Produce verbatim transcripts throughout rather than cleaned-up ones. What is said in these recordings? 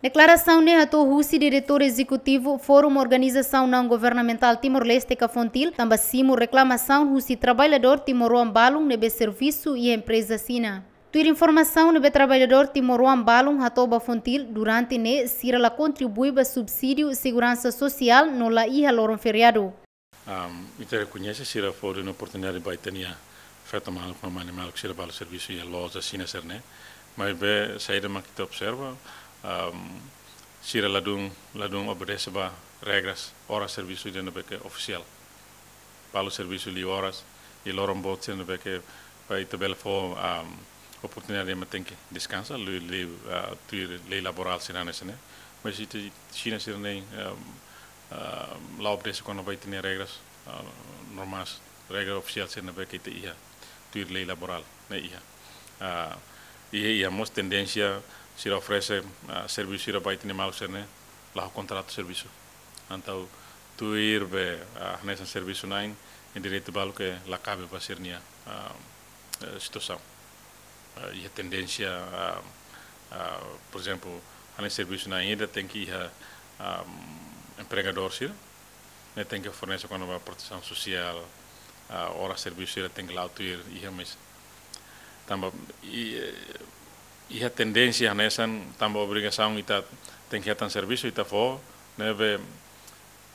Deklarasaun ne'e hato'o husi Diretór Ezekutivu Fórum Organizasaun Naun Governamentál Timor-Leste ka FONTIL, tanba simu reklamasaun husi traballadór timoroan balun ne'ebé servisu iha empreza Xina. Tuir informasaun ne'ebé traballadór timoroan balun hato'o ba FONTIL, durante ne'e sira la kontribui ba subsídiu seguransa sosiál no la iha loron feriadu. Um, ita rekoñese sira fó duni oportunidade ba ita-nia feto maluk, mamani maluk sira balu servisu iha loja Xina sira-ne'e. Maibé saida mak ita observa, um, sira ladún, ladún obedese ba regras oras servisu ida ne'ebé ke ofisiál. Balu servisu liu oras, i loron boot sira ne'ebé ke ba ita bele fó, um, oportunidade ema tenke deskansa, liu, liu, ah, tuir lei laborál sira hanesan ne'e. Mas ita Xina sira-ne'e, um, ah, la obedese kona-ba ita-nia regras, ah, normais, regra ofisiál sira ne'ebé ke ita iha, tuir lei laborál ne'e iha. Ah, iha, iha mós tendénsia sira oferese, ah, servisu sira ba ita-nia maluk sira-ne'e, la ho kontratu servisu. Entaun tuir be, ah, hanesan servisu na'in, iha direitu balu ke la kabe ba sira-nia, ah, eh, situasaun. Ah, iha tendénsia, ah, ah, por ezemplu, hanesan servisu na'in ida tenke iha, ah, empregadór sira, ne'e tenke fornese kona-ba protesaun sosiál, ah, oras servisu sira tenke la'o tuir iha mós. Tanba i, eh, iha tendénsia hanesan tanba obrigasaun ita tenke hetan servisu ita fó, ne'ebé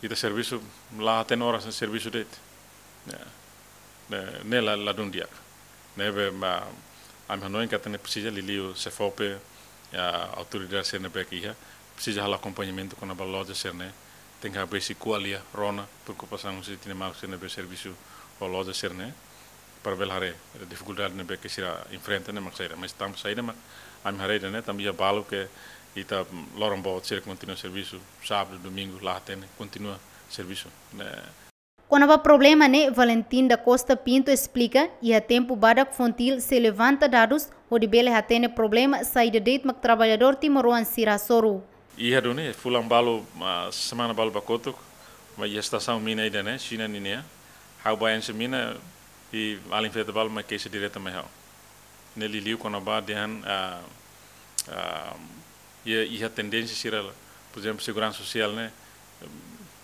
ita servisu la hatene oras servisu de'it. Ya. Ne'e, ne'e la, ladún di'ak. Ne'ebé, ah, ami hanoin katak ne'e presiza liuliu SEFOPE, ya, autoridade sira ne'ebé ke iha, presiza halo akompañamentu kona-ba loja sira-ne'e, tenke habesi ko'alia rona preokupasaun husi ita-nia maluk sira ne'ebé servisu ho loja sira-ne'e, para bele haree difikuldade ne'ebé ke sira enfrenta ne'e mak saida. Mas tanba saida mak ami haree ida-ne'e, tanba iha balu ke ita loron boot sira kontinua servisu, sábadu, domingu, la hatene, kontinua servisu. Ne'e, Kona-ba problema ne'e, Valentim da Costa Pinto esplika, iha tempu badak FONTIL sei levanta dadus, hodi bele hatene problema saida de'it mak traballadór timoroan sira hasoru. Iha duni, fulan balu, ah, semana balu ba kotuk, mai iha estasaun mina ida-ne'e, Xina ninia. Ha'u ba enxe mina, i alin feto balu mai keixa direta mai ha'u. Ne'e liuliu kona-ba dehan, ah, ah, iha, iha tendénsia sira la, por ezemplu, seguransa sosiál ne'e,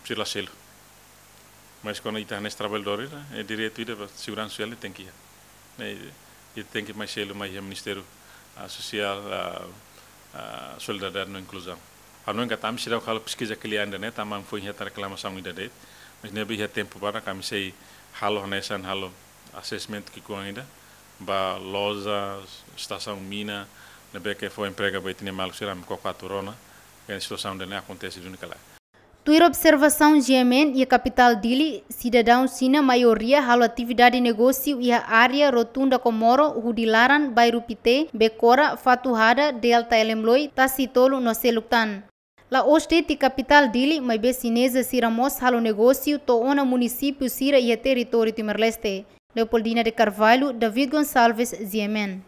sira la selu. Mas kuandu ita hanesan traballadór ida, eh, direitu ida ba seguransa sosiál ne'e tenke iha. Ne'e, ita tenke mai selu mai iha Ministériu, ah, Sosiál, ah, ah, Solidariedade no Inkluzaun. Ha'u hanoin katak ami seidauk halo peskiza klia ida-ne'e, tanba ami foin hetan reklamasaun ida de'it. Mas ne'ebé iha tempu badak ami sei halo hanesan halo assessment ki'ikoan ida ba loja, estasaun mina, ne'ebé ke fó emprega ba ita-nia maluk sira, ami koko atu rona, ke situasaun ida-ne'e akontese duni ka lae. Tuir observasaun G M N, iha kapitál Dili, sidadaun Xina maioria halo atividade negósiu iha área Rotunda Comoro, hudi laran, bairru Pité, Becora, Fatuhada, Delta Elemloi, Tasitolu no seluk tan. La'ós de'it iha kapitál Dili, maibé xineza sira mós halo negósiu to'o ona munisípiu sira iha territóriu Timor-Leste. Leopoldina de Carvalho, David Gonçalves, G M N.